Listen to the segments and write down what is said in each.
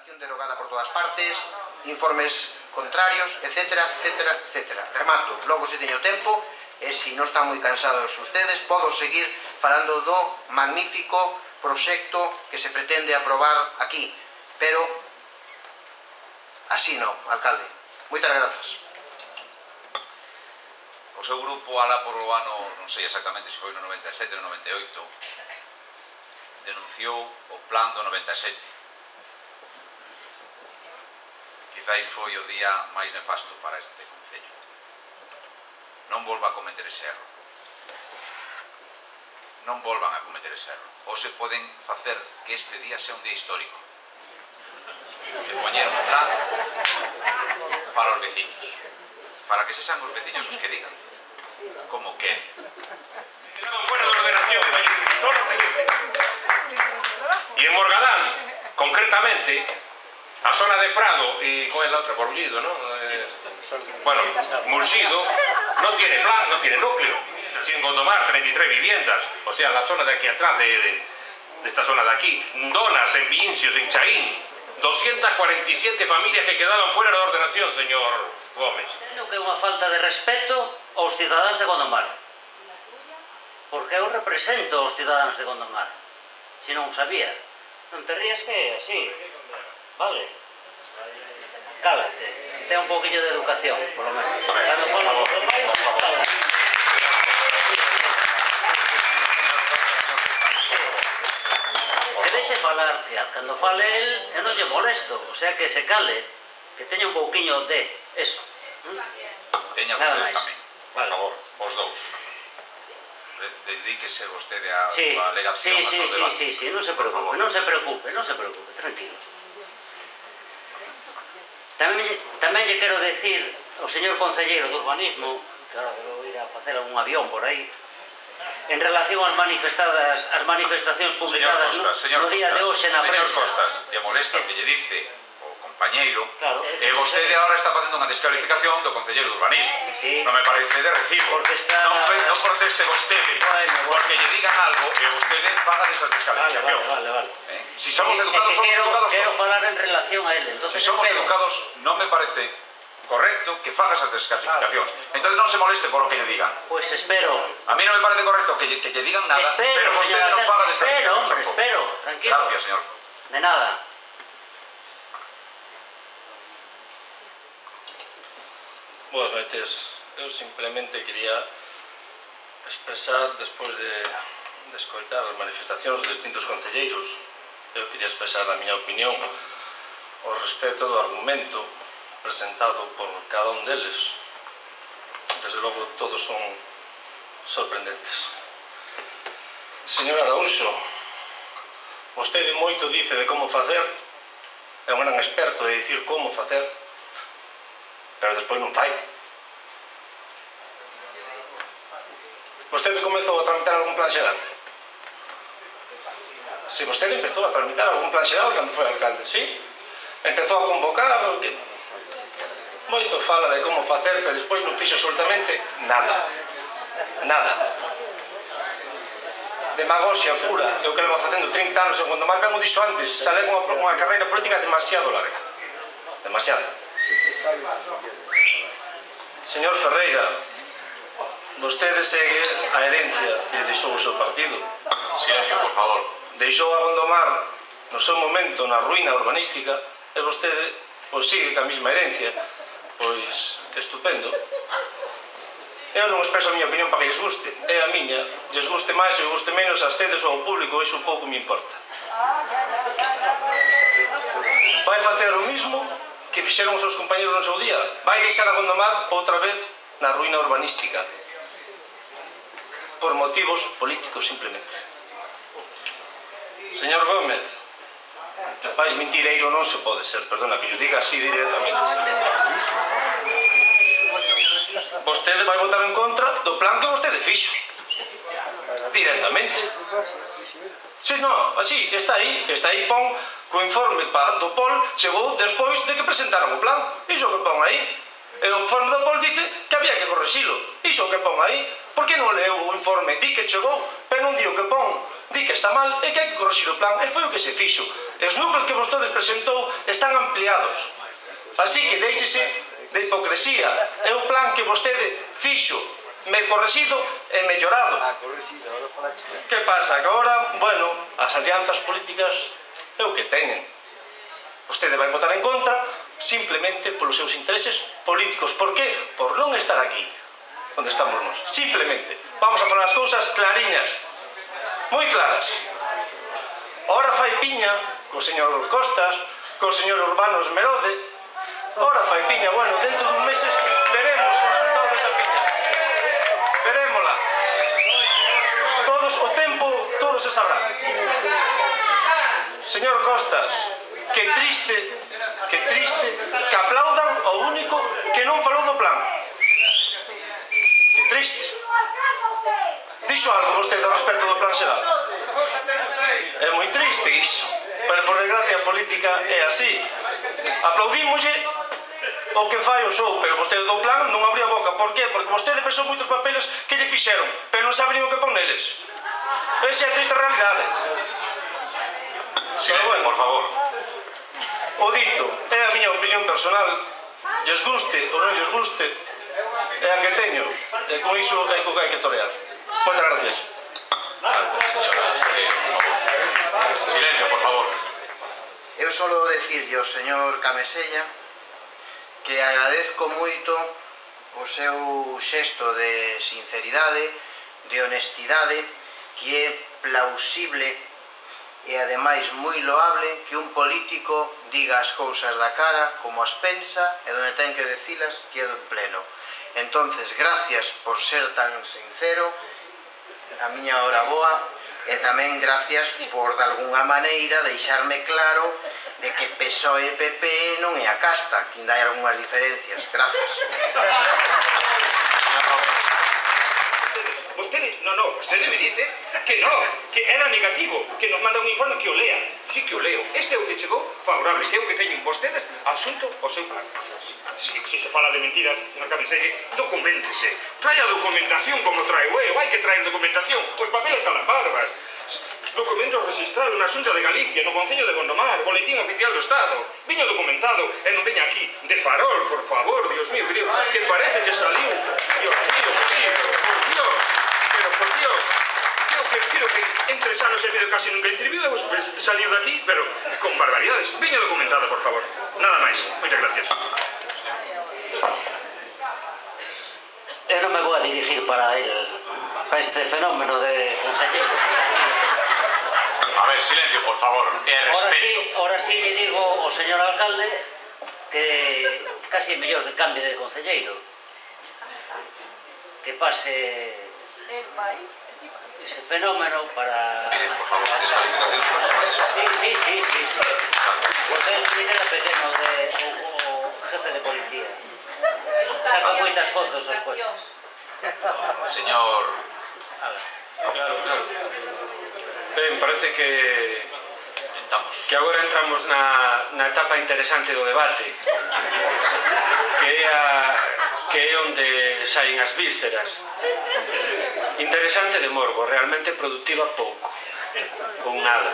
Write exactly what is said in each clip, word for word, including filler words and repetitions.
legislación derogada por todas partes, informes contrarios, etcétera, etcétera, etcétera. Remato, logo se teño tempo, e se non están moi cansados ustedes, podo seguir falando do magnífico proxecto que se pretende aprobar aquí, pero así non, alcalde. Moitas grazas. O seu grupo, alá por o ano, non sei exactamente se foi no noventa e sete ou no noventa e oito, denunciou o plan do noventa e sete. Quizás foi o día máis nefasto para este concello. Non volva a cometer ese erro. Non volvan a cometer ese erro. Ou se poden facer que este día sea un día histórico. De poñer un plan para os veciños. Para que se sean os veciños os que digan como que fuera de ordenación, solo y en Morgadán, concretamente, a zona de Prado y con el otro, Borullido, ¿no? Eh, bueno, Murcido no tiene plan, no tiene núcleo. En Gondomar, treinta y tres viviendas, o sea, la zona de aquí atrás, de, de, de esta zona de aquí, Donas, en Vincios, en Chaín, doscientas cuarenta y siete familias que quedaban fuera de ordenación, señor Gómez. Creo que é unha falta de respeto aos cidadáns de Gondomar. Porque eu represento aos cidadáns de Gondomar. Se non o sabía. Non te rías que é así. Vale. Cálate. Ten un poquillo de educación, por lo menos. Cando fala por favor. Que deixe falar, que cando fale el, eu non lle molesto. O sea, que se cale. Que teña un pouquiño de eso. teña vostede tamén, por favor, os dous. Dedíquese vostede a súa alegación. Sí, sí, sí, sí, non se preocupe, non se preocupe, non se preocupe, tranquilo. Tamén lle quero decir ao señor concelleiro do urbanismo, que ahora debo ir a facer un avión por aí, en relación ás manifestadas, as manifestacións publicadas no día de hoxe na prensa. Señor Costas, lle molesta que lle dice compañeiro, e vostede agora está facendo unha descalificación do concelleiro de urbanismo. Non me parece de recibo. Non proteste vostede, porque lle digan algo e vostede paga desas descalificacións. Vale, vale, vale. Si somos educados, somos educados. Quero falar en relación a ele. Si somos educados, non me parece correcto que faga esas descalificacións. Entón non se moleste por o que lle digan. Pois espero. A mí non me parece correcto que lle digan nada, pero vostede non faga descalificacións. Espero, espero, tranquilo. Gracias, señor. De nada. Boas noites. Eu simplemente quería expresar, despois de, de escoitar as manifestacións dos distintos concelleiros, eu quería expresar a miña opinión ao respecto do argumento presentado por cada un deles. Desde logo, todos son sorprendentes. Señor Araúxo, vostede moito dice de como facer, é un gran experto de dicir como facer, pero despois non fai. Vostede comezou a tramitar algún plan xeral? Se vostede empezou a tramitar algún plan xeral cando foi alcalde, sí? Empezou a convocar, moito fala de como facer, pero despois non fixo absolutamente nada. Nada. Demagoxia pura. Eu que levo facendo trinta anos en Gondomar, ben o dixo antes, sale unha carreira política demasiado larga. Demasiado. Señor Ferreira, vostede segue a herencia que deixou o seu partido. Silencio, por favor. Deixou a Gondomar no seu momento na ruína urbanística e vostede pois sigue ca mesma herencia. Pois, estupendo. Eu non expreso a miña opinión para que lles guste. É a miña. Lles guste máis ou guste menos a ustedes ou ao público, iso pouco me importa. Vai facer o mismo que fixeron os seus compañeros no seu día. Vai deixar a Gondomar outra vez na ruína urbanística. Por motivos políticos, simplemente. Señor Gómez, máis mentireiro non se pode ser, perdona, que yo diga así directamente. Vostede vai votar en contra do plan que vostede fixo. Directamente. Si, non, así, está aí, está aí, pon o informe do P O L chegou despois de que presentaron o plan. Iso que pon aí. E o informe do P O L dice que había que correxilo. Iso que pon aí. Por que non leu o informe? Di que chegou, pero non di o que pon. di que está mal e que hai que corrixir o plan, e foi o que se fixo. E os núcleos que vostedes presentou están ampliados. Así que deixese de hipocresía. É o plan que vostede fixo, me correxido e mellorado. Que pasa? Que agora, bueno, as alianzas políticas é o que teñen. Vostede vai votar en contra simplemente polos seus intereses políticos. Por que? Por non estar aquí onde estamos nós. Simplemente. Vamos a falar as cousas clariñas, moi claras. Ora fai piña co señor Costas, co señor Urbanos Merode. Ora fai piña, bueno, dentro dun meses veremos o resultado desa piña. Verémola. Todos, o tempo, todo se sabrá. Señor Costas, que triste, que triste que aplaudan ao único que non falou do plan. Que triste. Dixo algo vostede ao respecto do plan xeral? É moi triste iso. Pero por desgracia a política é así. Aplaudímoslle o que fai o show, pero vostede do plan non abría a boca. Por qué? Porque vostede pensou moitos papeles que lle fixeron, pero non sabe nin o que pon neles. Esa é a triste realidade. Silencio, por favor. O dito é a miña opinión personal, lles guste ou non lles guste, é a que teño, e con iso é co que hai que torear. Moitas gracias. Silencio, por favor. Eu solo decirlle ao señor Camesella que agradezco moito o seu xesto de sinceridade, de honestidade, que é plausible e ademais moi loable que un político diga as cousas da cara como as pensa e donde ten que decilas que é do pleno. Entonces, gracias por ser tan sincero, a miña hora boa, e tamén gracias por de algunha maneira deixarme claro de que P S O E e P P non é a casta, que ainda hai algunhas diferencias. Gracias. Vostede, no, no, vostede me dice que no, que era negativo, que nos manda un informe que o lea. Sí que o leo. Este é o que chegou favorable, que é o que teñen vostedes asunto ao seu plan. Si, si se fala de mentiras, señor Cameselle, documentese. Trae a documentación como trae eu, hai que traer documentación. Os papeles calafarbas. Documentos registrados na Xunta de Galicia, no Concello de Gondomar, Boletín Oficial do Estado. Viño documentado e non veña aquí de farol, por favor, Dios mío, creo, que parece que saliu. Dios mío, querido, por Dios. Pero, por Dios, creo que, creo que en tres anos e medio casi nunca interviu, hemos salido de aquí, pero con barbaridades. Viño documentado, por favor. Nada máis. Moitas gracias. Eu non me vou a dirigir para el, para este fenómeno de concelleiros. A ver, silencio, por favor, e respeto. Ahora sí lle digo ao señor alcalde que casi é mellor que cambie de concelleiro, que pase ese fenómeno para... Mire, por favor, descalificacións personales. Sí, sí, sí, sí, sí. Porque é un era pequeno de o jefe de policía. Saca moitas fotos aos coches. Señor... Claro, claro. Ben, parece que que agora entramos na, na etapa interesante do debate, que é a, que é onde saen as vísceras. Interesante de morbo, realmente productiva pouco ou nada.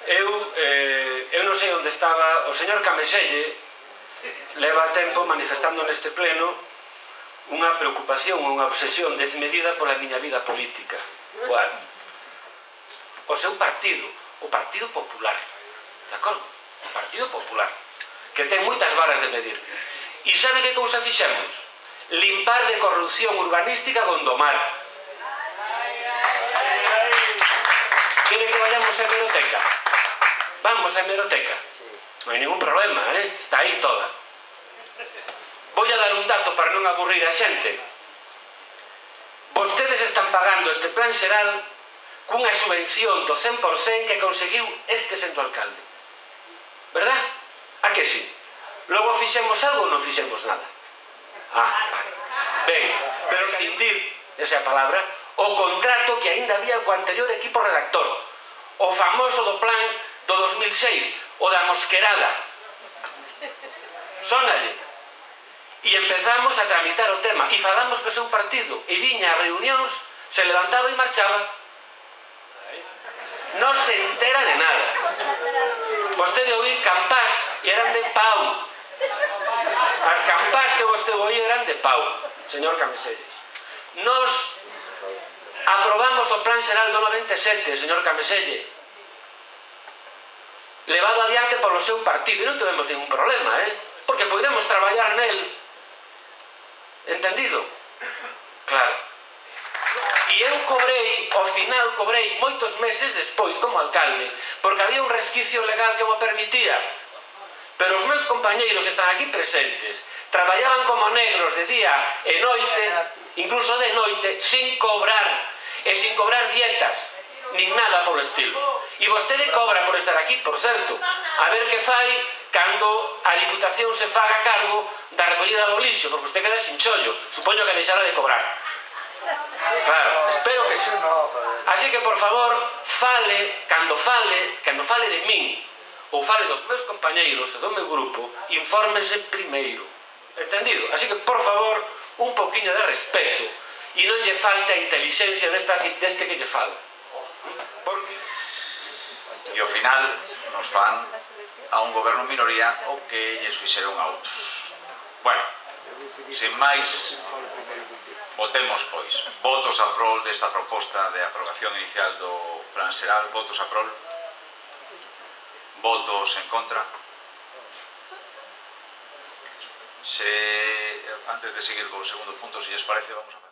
Eu, eh, eu non sei onde estaba o señor Cameselle. Leva tempo manifestando neste pleno unha preocupación, unha obsesión desmedida pola miña vida política. Bueno, o seu partido, o Partido Popular, de acordo? O Partido Popular, que ten moitas varas de medir. E sabe que cousa fixemos? Limpar de corrupción urbanística Gondomar. Quere que vayamos a hemeroteca? Vamos a hemeroteca. Non hai ningún problema, eh? Está aí toda. Vou a dar un dato para non aburrir a xente. Vostedes están pagando este plan xeral cunha subvención do cen por cento que conseguiu este sento alcalde. Verdad? A que sí? Logo fixemos algo ou non fixemos nada? Ah, vale. Ben, pero rescindir, esa é a palabra, o contrato que aínda había co anterior equipo redactor, o famoso do plan do dos mil seis, o da mosquerada. Sónalle. E empezamos a tramitar o tema, e falamos co seu partido, e viña a reunións, se levantaba e marchaba. non se entera de nada. Vostede oír campás e eran de pau. As campás que vostede oír eran de pau, señor Cameselle. Nos aprobamos o Plan Xeral do noventa e sete, señor Cameselle, levado adiante polo seu partido, e non tuvemos ningún problema, eh? Porque podemos traballar nel. Entendido? Claro. E eu cobrei, ao final cobrei moitos meses despois como alcalde, porque había un resquicio legal que mo permitía. Pero os meus compañeiros que están aquí presentes traballaban como negros de día e noite, incluso de noite, sin cobrar, e sin cobrar dietas, nin nada polo estilo. E vostede cobra por estar aquí, por certo. A ver que fai cando a Diputación se faga cargo da recollida do lixo, porque vostede queda sin chollo. Supoño que deixará de cobrar. Claro, espero que sí. Así que, por favor, fale, cando fale, cando fale de min, ou fale dos meus compañeiros e do meu grupo, infórmese primeiro. Entendido? Así que, por favor, un poquinho de respeto e non lle falte a inteligencia deste que lle fala. Porque... E ao final nos fan a un goberno minoría o que lles fixeron a outros. Bueno, sin máis, votemos, pois. Votos a prol desta proposta de aprobación inicial do Plan Xeral. Votos a prol. Votos en contra. Se, antes de seguir co segundo punto, se lles parece, vamos a...